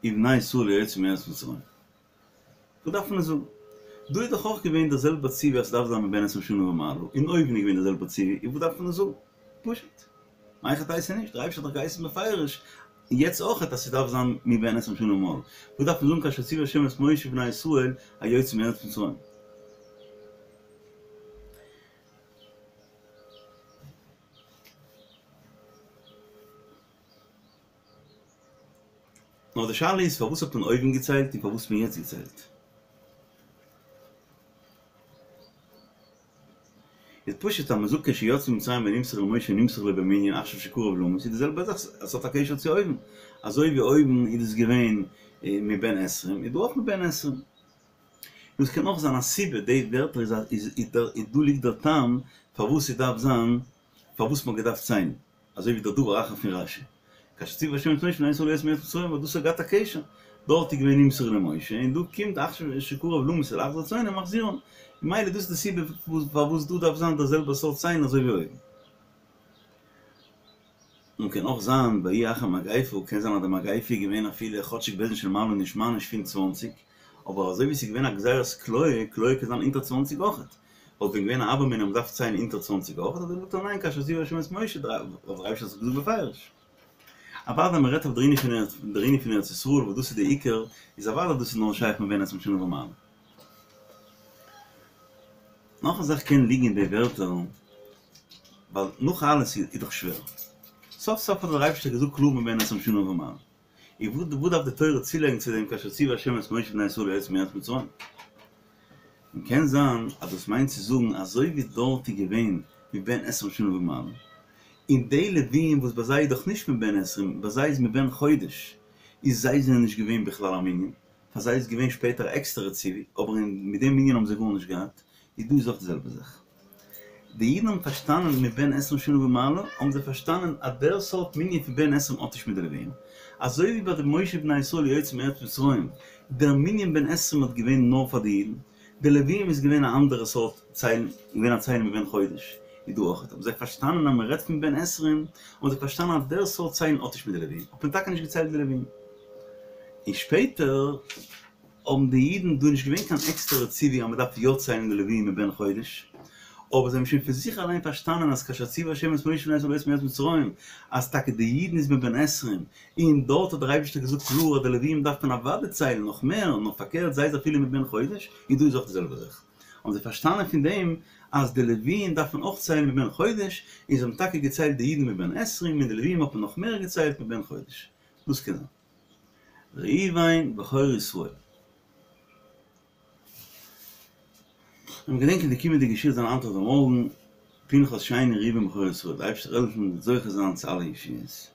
ובני ישראל היוצאים מארץ מצרים. וואס דארף מען עס זאגן? דא איז דאך אויך געווען דער זעלבער ציווי אז ס'דארף זיין מבן עשרים שנה ומעלה, און אויבן איז געווען דער זעלבער ציווי, איז וואס דארף מען עס זאגן? פשוט. מהיכי תיתי נישט, דער אייבערשטער האט דאך געהייסן בפירוש, און יעצט אויכעט אז ס'דארף זיין מבן עשרים שנה ומעלה. וואס דארף מען זאגן כאשר ציוה ה' את משה ובני ישראל היוצאים מארץ מצרים? נאר די שאלה איז פארוואס האט מען אויבן געציילט און פארוואס האט מען יעצט געציילט? איז פשוט אז מען זאגט כשיצאו ממצרים ונמסר למשה נמסר לו במנין עכשיו שקרב למות איז די זעלבע זאך עס האט א קשר צו אויבן אזוי ווי אויבן איז עס געווען מבן עשרים איז דא אויך מבן עשרים. דאס קען אויך זיין א סיבה די ווערטער איז איז דא ליגט דער טעם פארוואס ס'דארף זיין פארוואס מ'האט געדארפט ציילן. אזוי ווי דער דבר אחר פון רש"י, כאשר ציוה השם את משה ובני ישראל היוצאים מארץ מצרים, ווייל דאס האט געהאט א קשר, דארט איז געווען נמסר למשה, און דא קומט עכשיו שקרב למות ולהחזיר צאנם מחזירם, ממילא דאס איז די סיבה פארוואס דא דארף זיין דער זעלבער סארט ציילן אזוי ווי אויבן. און קען אויך זיין ויהי אחר מגיפה, קען זיין אז די מגיפה איז געווען אפילו כאטשיג בית דין של מעלה נישט מעניש פון צוואנציג, אבער אזוי ווי עס איז געווען א גזירת כליה, כליה קען זיין אונטער צוואנציג אויכעט, וואלט ווען געווען א הוה אמינא אז מ'דארף ציילן אונטער צוואנציג אויך, האט ער געזאגט ניין כאשר ציוה השם את משה, דער אייבערשטער האט עס געזאגט בפירוש. אוודאי מ'רעדט אויף דער ענין פון ארץ ישראל וואס דאס איז די עיקר, איז אוודאי דאס איז נאר שייך מבן עשרים שנה ומעלה. נאך א זאך קען ליגן אין די ווערטער, ווייל נאך אלעס איז דאך שווער. סוף סוף האט דער אייבערשטער געזאגט קלאר מבן עשרים שנה ומעלה. און וואס דארף די תורה צולייגן צו דעם כאשר ציוה השם את משה ובני ישראל היוצאים מארץ מצרים? און קען זיין אז דאס מיינט צו זאגן אזוי ווי דארט איז געווען מבן עשרים שנה ומעלה, און די לוויים וואס ביי זיי איז דאך נישט מבן עשרים, ביי זיי איז מבן חודש, איז זיי זענען נישט געווען בכלל א מנין, פאר זיי איז געווען שפעטער א עקסטערע ציווי, אבער מיט דעם מנין האבן זיי גארנישט געהאט, איז דא איז אויך די זעלבע זאך. די אידן האבן פארשטאנען מבן עשרים שנה ומעלה, האבן זיי פארשטאנען אז דער סארט מנין פון בן עשרים האט נישט מיט די לוויים. אזוי ווי ביי די משה ובני ישראל היוצאים מארץ מצרים, דער מנין בן עשרים האט געווען נאר פאר די אידן, די לוויים איז געווען א אנדערע סארט ציילן, געווען א ציילן מבן חודש, איז דא אויך, האבן זיי פארשטאנען אז מען רעדט פון בן עשרים, האבן זיי פארשטאנען אז דער סארט ציילן האט נישט מיט די לוויים, האט מען טאקע נישט געציילט די לוויים. און שפעטער. האבן די אידן דא נישט געווען קיין עקסטערע ציווי אז מען דארף יא ציילן די לוויים מבן חודש, אבער זיי האבן שוין פון זיך אליין פארשטאנען אז כאשר ציוה השם את משה ובני ישראל היוצאים מארץ מצרים, אז טאקע די אידן איז מבן עשרים, און דארט האט דער אייבערשטער געזאגט קלאר אז די לוויים דארף מען אוודאי ציילן נאך מער, נאר פארקערט זיי איז אפילו מבן חודש, און דא איז אויך די זעלבע זאך. האבן זיי פארשטאנען פון דעם אז די לוויים דארף מען אויך ציילן מבן חודש, און זיי האבן טאקע געציילט די אידן מבן עשרים, און די לוויים האט מען נאך מער געציילט מבן חודש. דאס קען זיין. ראובן בכור ישראל. און געדענקען די קומענדיגע שיעור זיין היינט אדער מארגן, פנחס שני ראובן בכור ישראל, די אייבערשטער זאל העלפן זוכה זיין צו אלע ישועות.